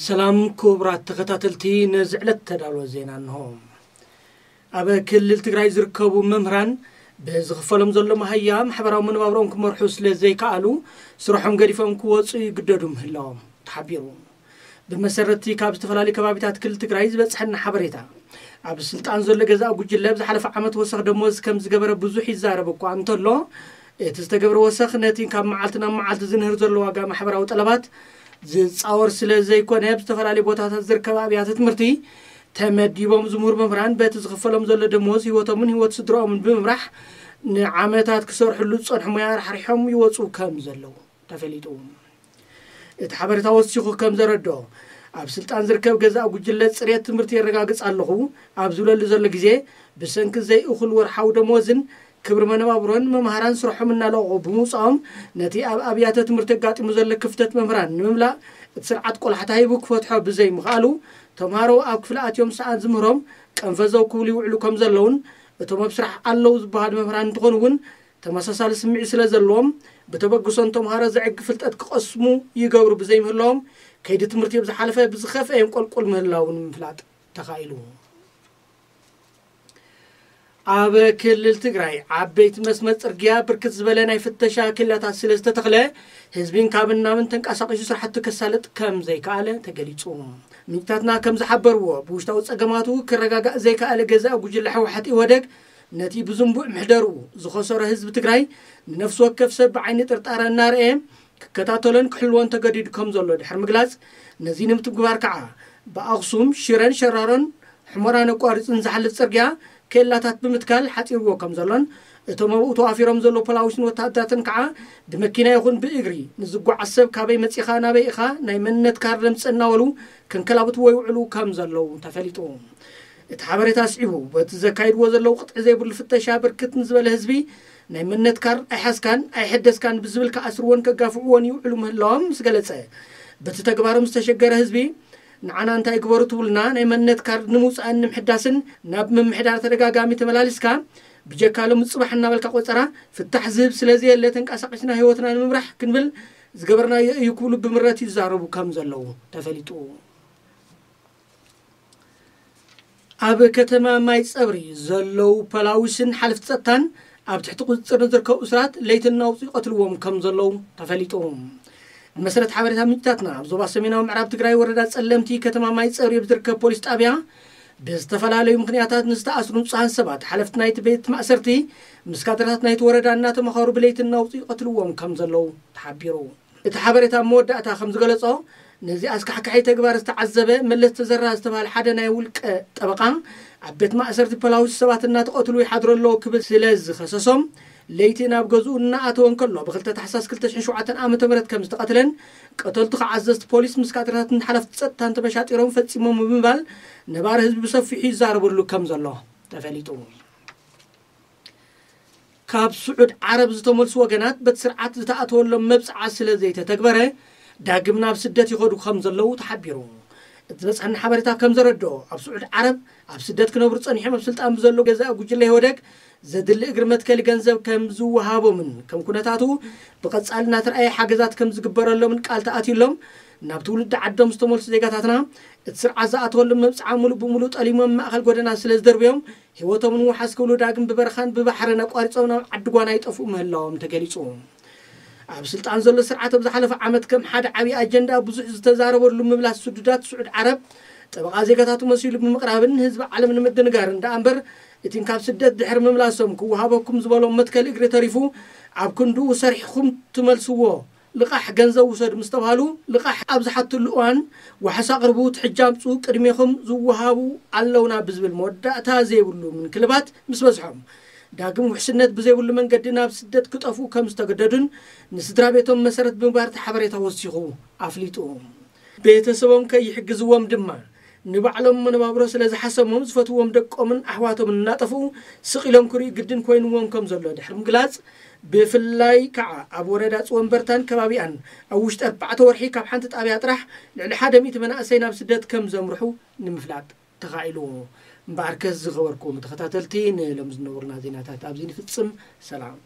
ሰላም ክቡራት ተኸታተልቲ፣ ነዚ ዕለት ተዳሎ ዜና እንሆ። ኣብ ክልል ትግራይ ዝርከቡ መምህራን ብዝኽፈሎም ዘሎ መሃያ ማሕበራዊ መነባብሮኦም ክመርሑ ስለ ዘይከኣሉ ስርሖም ገዲፎም ክወፁ ይግደዱ ምህላዎም ተሓቢሩ። ብመሰረትቲ ካብ ዝተፈላለዩ ከባቢታት ክልል ትግራይ ዝበፅሐና ሓበሬታ፣ ኣብ ስልጣን ዘሎ ገዛእ ጉጅለ ኣብ ዝሓለፈ ዓመት ወሰኽ ደሞዝ ከም ዝገበረ ብዙሕ ይዛረብ እኳ እንተሎ፣ እቲ ዝተገብረ ወሰኽ ነቲ ካብ መዓልቲ ናብ መዓልቲ ዝንህር ዘሎ ዋጋ ማሕበራዊ ጠለባት ዝፃወር ስለ ዘይኮነ፣ ኣብ ዝተፈላለዩ ቦታታት ዝርከባ ኣብያተ ትምህርቲ ተመዲቦም ዝምህሩ መምህራን በቲ ዝኽፈሎም ዘሎ ደሞዝ ህይወቶምን ህይወት ስድራኦምን ብምምራሕ ንዓመታት ክሰርሕሉ ዝፀንሑ ሞያ ራሕሪሖም ይወፁ ከም ዘለዉ ተፈሊጡ። እቲ ሓበሬታ ወሲኹ ከም ዘረድኦ፣ ኣብ ስልጣን ዝርከብ ገዛእ ጉጅለ ፅሬት ትምህርቲ የረጋግፅ ኣለኹ ኣብ ዝብለሉ ዘሎ ግዜ፣ ብሰንኪ ዘይእኹል ወርሓዊ ደሞዝን ክብሪ መነባብሮን መምሃራን ስርሖም እናለቐቑ ብምውፃኦም፣ ነቲ ኣብ ኣብያተ ትምህርቲ ኣጋጢሙ ዘሎ ክፍተት መምህራን ንምምላእ እቲ ስርዓት ቆላሕታ ሂቡ ክፈትሖ ብዘይምኽኣሉ፣ ተምሃሮ ኣብ ክፍሊ ኣትዮም ሰኣን ዝምህሮም ቀንፈዘው ክብሉ ይውዕሉ ከም ዘለውን፣ እቶም ኣብ ስራሕ ኣለዉ ዝበሃሉ መምህራን እንትኾኑ እውን ተመሳሳሊ ስምዒት ስለ ዘለዎም፣ ብተበግሶ ንተምሃሮ ዘዕግ ፍልጠት ክቐስሙ ይገብሩ ብዘይምህላዎም፣ ከይዲ ትምህርቲ ብዝሓለፈ ብዝኸፍአ የንቆልቁል ምህላው ንምፍላጥ ተኻኢሉ። ኣብ ክልል ትግራይ ዓበይቲ መስመር ጽርግያ ብርክት ዝበለ ናይ ፍተሻ ኬላታት ስለ ዝተተኽለ፣ ህዝቢ እንካብን ናብን ተንቀሳቒሱ ስራሕቱ ከሳልጥ ከም ዘይከኣለ ተገሊጹ። ምንጭታትና ከም ዝሓበርዎ፣ ብውሽጣዊ ጸገማቱ ክረጋጋእ ዘይከኣለ ገዛኢ ጉጅለ ህወሓት ኢህወደግ፣ ነቲ ብዝንቡዕ ምሕደርኡ ዝኸሰሮ ህዝቢ ትግራይ ንነፍሲ ወከፍ ሰብ ብዓይኒ ጥርጣረ እናርኣየ ክከታተሎን ክሕልዎን ተገዲዱ ከም ዘሎ ድሕሪ ምግላጽ፣ ነዚ ንምትግባር ከዓ ብኣኽሱም፣ ሽረን ሸራሮን ሕሞራን ኣቋሪጹ ንዝሓልፍ ጽርግያ ኬላታት ብምትካል ሓጺርዎ ከም ዘሎን፣ እቶም ኣብኡ ተዋፊሮም ዘለዉ ፖላዊስን ወታሃደራትን ከዓ ብመኪና ይኹን ብእግሪ ንዝጓዓዝ ሰብ ካበይ መጺኻ ናበይ ኢኻ ናይ መንነት ካርድ ኣምጽእ እናበሉ ከንከላብትዎ ይውዕሉ ከም ዘለዉ ተፈሊጡ። እቲ ሓበሬታ ኣስዒቡ፣ በቲ ዘካይድዎ ዘለዉ ቅጥዒ ዘይብሉ ፍተሻ ብርክት ንዝበለ ህዝቢ ናይ መንነት ካርድ ኣይሓዝካን ኣይሐደስካን ብዝብል ክኣስርዎን ከጋፍዕዎን ይውዕሉ ምህላዎም ምስ ገለጸ፣ በቲ ተግባሮም ዝተሸገረ ህዝቢ ንዓና እንታይ ግበሩ ትብሉና፣ ናይ መንነት ካርድ ንምውጻእን ንምሕዳስን ናብ ምምሕዳር ተደጋጋሚ ተመላሊስካ፣ ብጀካ ሎሚ ጽባሕ እናበልካ ቆጸራ ፍታሕ ዝህብ ስለ ዘየለ፣ ተንቀሳቒስና ህይወትና ንምምራሕ ክንብል ዝገበርናዮ እዩ ክብሉ ብምረት ይዛረቡ ከም ዘለዉ ተፈሊጡ። ኣብ ከተማ ማይ ጸብሪ ዘለዉ ፖላዊስን ሓለፍቲ ጸጥታን ኣብ ትሕቲ ቁጽጽር ንዝርከቡ እሱራት ለይትን ናውጺ ይቐትልዎም ከም ዘለዉ ተፈሊጡ። ብመሰረት ሓበሬታ ምንጭታትና፣ ኣብ ዞባ ሰሜናዊ ምዕራብ ትግራይ ወረዳ ጸለምቲ ከተማ ማይ ጸብሪ ኣብ ዝርከብ ፖሊስ ጣብያ ብዝተፈላለዩ ምኽንያታት ንዝተኣስሩ ንጹሃን ሰባት ሓለፍቲ ናይቲ ቤት ማእሰርቲ ምስ ካድረታት ናይቲ ወረዳ እናተመኸሩ ብለይትን ናውጺ ይቐትልዎም ከም ዘለዉ ተሓቢሩ። እቲ ሓበሬታ ኣብ መወዳእታ ከም ዝገለጾ፣ ነዚ ኣስካሕካሒ ተግባር ዝተዓዘበ መለስ ተዘራ ዝተባህለ ሓደ ናይ ውልቀ ጠበቓ፣ ኣብ ቤት ማእሰርቲ ፖላዊስ ሰባት እናተቐትሉ ይሓድሩ ኣለዉ ክብል ስለ ዝኸሰሶም፣ ለይቲ ናብ ገዝኡ እናኣተወ እንከሎ፣ ብ2 ታሕሳስ ክልተ ሽሕን ሸውዓተን ዓመተ ምህረት ከም ዝተቐትለን፣ ቀተልቱ ከዓ ኣዘዝቲ ፖሊስ ምስ ካድረታትን ሓለፍቲ ጸጥታን ተመሻጢሮም ፈጺሞም ብምባል፣ ነባሪ ህዝቢ ብሰፊሑ ይዛረበሉ ከም ዘሎ ተፈሊጡ። ካብ ስዑድ ዓረብ ዝተመልሱ ወገናት በቲ ስርዓት ዝተኣተወሎም መብጽዓ ስለ ዘይተተግበረ፣ ዳግም ናብ ስደት ይኸዱ ከም ዘለዉ ተሓቢሩ። እቲ ዝበጽሐና ሓበሬታ ከም ዘረድኦ፣ ኣብ ስዑድ ዓረብ ኣብ ስደት ክነብሩ ጸኒሖም ኣብ ስልጣን ብዘሎ ገዛኢ ጉጅለ ኢህወደግ ዘድሊ እግሪ መትከሊ ገንዘብ ከም ዝወሃቦምን ከም ኩነታቱ ብቐጻሊ እናተረኣየ ሓገዛት ከም ዝግበረሎምን ቃል ተኣትዩሎም ናብ ትውልዲ ዓዶም ዝተመልሱ ዜጋታትና፣ እቲ ስርዓት ዝኣተወሎም መብጽዓ ሙሉእ ብሙሉእ ጠሊሞም ማእከል ጎደና ስለ ዝደርብዮም፣ ህይወቶም ንምውሓስ ክብሉ ዳግም ብበረኻን ብባሕርን ኣቋሪጾም ናብ ዓዲ ጓና ይጠፍኡ ምህላዎም ተገሊጹ። ኣብ ስልጣን ዘሎ ስርዓት ኣብ ዝሓለፈ ዓመት ከም ሓደ ዓብዪ ኣጀንዳ ብዙሕ ዝተዛረበሉ ምምላስ ስዱዳት ስዑድ ዓረብ ጠበቓ ዜጋታቱ መሲሉ ብምቕራብን ህዝቢ ዓለም ንምድንጋርን ደኣ እምበር፣ እቲን ካብ ስደት ድሕሪ ምምላሶም ክወሃበኩም ዝበሎም መትከል እግሪ ተሪፉ ኣብ ክንድኡ ሰሪሕኹም ትመልስዎ ልቓሕ ገንዘብ ውሰዱ ምስ ተባሃሉ፣ ልቓሕ ኣብ ዝሓትሉ እዋን ዋሕስ ኣቕርቡ፣ ትሕጃ ኣምፁ፣ ቅድሜኹም ዝወሃቡ ኣለውና ብዝብል መወዳእታ ዘይብሉ ምንክልባት ምስ በዝሖም፣ ዳግም ውሕስነት ብዘይብሉ መንገዲ ናብ ስደት ክጠፍኡ ከም ዝተገደዱን ንስድራ ቤቶም መሰረት ብምግባር እቲ ሓበሬታ ወሲኹ ኣፍሊጡ። ቤተሰቦም ከይሕግዝዎም ድማ ንባዕሎም መነባብሮ ስለ ዝሓሰሞም ዝፈትዎም ደቆምን ኣሕዋቶምን እናጠፍኡ ስቕ ኢሎም ክርእዩ ግድን ኮይንዎም ከም ዘሎ ድሕሪ ምግላጽ፣ ብፍላይ ከዓ ኣብ ወረዳ ጽወንበርታን ከባቢኣን ኣብ ውሽጢ ኣርባዕተ ወርሒ ካብ ሓንቲ ጣብያ ጥራሕ ልዕሊ ሓደ ሚእቲ መናእሰይ ናብ ስደት ከም ዘምርሑ ንምፍላጥ ተኻኢሉ። እምበኣርከስ ዝኸበርኩም ተኸታተልቲ፣ ንሎም ዝነበሩና ዜናታት ኣብዚ ንፍጽም። ሰላም።